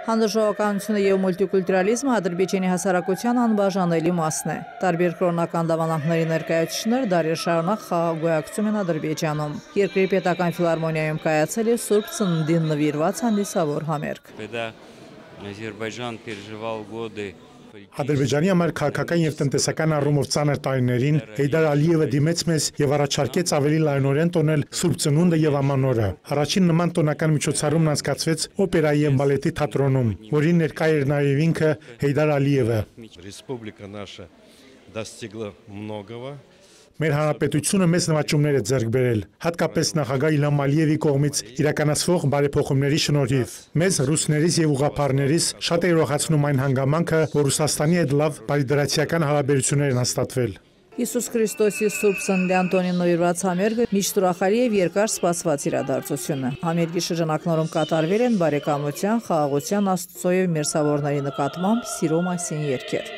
Հանդուրժողականությունը և մուլտիկուլտուրալիզմը Ադրբեջանի հասարակության անբաժանելի մասն է։ Տարբեր կրոնական դավանանքների ներկայացուցիչներ դարեր շարունակ խաղաղ գոյակցում են Ադրբեջանում։ Երկրի պետական ֆիլհարմոնիայում կայացել է Սուրբ Ծննդին նվիրված հանդիսավոր համերգ։ Ադրբեջանի համար քաղաքական և տնտեսական առումով ծանր տարիներին Հեյդար Ալիևը դիմեց մեզ և առաջարկեց ավելի լայնորեն տոնել Սուրբ Ծնունդը և Ամանորը։ Առաջին նման տոնական միջոցառումն անցկացվեց օպերայի և բալետի թատրոնում, որին ներկա էր նաև ինքը Հեյդար Ալիևը։ Մեր հանրապետությունը մեծ նվաճումներ է ձեռք բերել, հատկապես նախագահ Իլհամ Ալիևի կողմից իրականացվող բարեփոխումների շնորհիվ։ Մեզ ռուսներից և ուղղափառներից շատ է ուրախացնում այն հանգամանքը, որ Ռուսաստանի հետ լավ բարիդրացիական հարաբերություններ են հաստատվել։ Հիսուս Քրիստոսի Սուրբ Ծննդյան տոնին նվիրված համերգը միշտ ուրախալի և երկար սպասված իրադարձություն է։ Համերգի շրջանակներում կատարվել են բարեկամության, խաղաղության, Աստծո և մերձավորների նկատմամբ սիրո մասին երգեր։